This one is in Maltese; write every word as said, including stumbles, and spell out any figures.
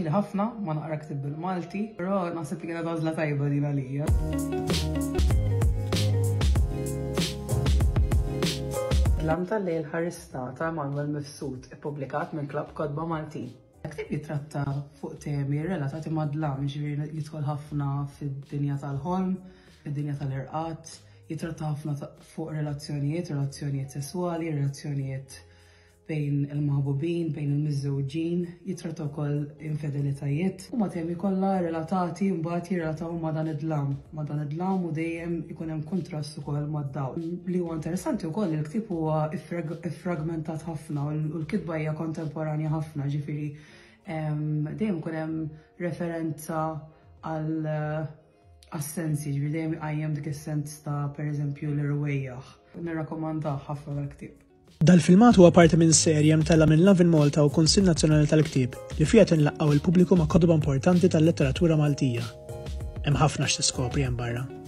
Ili ħafna ma naqra ktieb bil-Malti, però naħseb li kienet għażla tajba din għalija. Dlam tal-lejl ħarista ta' Manuel Mifsud, ippubblikat minn Klabb Kotba Maltin. Ktieb jitratta fuq temi relatati ma' dlam, ġifieri jidħol ħafna fid-dinja tal-ħolm, fid-dinja tal-irqad, jitratta ħafna fuq relazzjonijiet, relazzjonijiet sesswali, relazzjonijiet bejn il-maħbubin, bejn il-miżżewġin, jitratta wkoll infedelitajiet. Huma temi kollha relatati mbagħad jirrelataw ma' dan id-dlam, ma' dan id-dlam u dejjem ikun hemm kuntrast ukoll mad-dawl. Li huwa interessanti wkoll il-ktieb huwa iffragmentat ħafna u l-kitba hija kontemporanja ħafna, ġifieri dejjem ikun hemm referenza għal għas-sensi, ġifieri dejjem iqajjem dik is-sens ta' pereżempju l-irwejjaħ. Nirrakkomandah ħafna dal-ktieb. Dal-filmat huwa parti minn serje mtella' minn Lovin Malta u Kunsill Nazzjonali tal-Ktieb li fiha tinlaqgħu il-pubbliku ma' kotba importanti tal-letteratura Maltija. Hemm ħafna x'tiskopri hemm barra.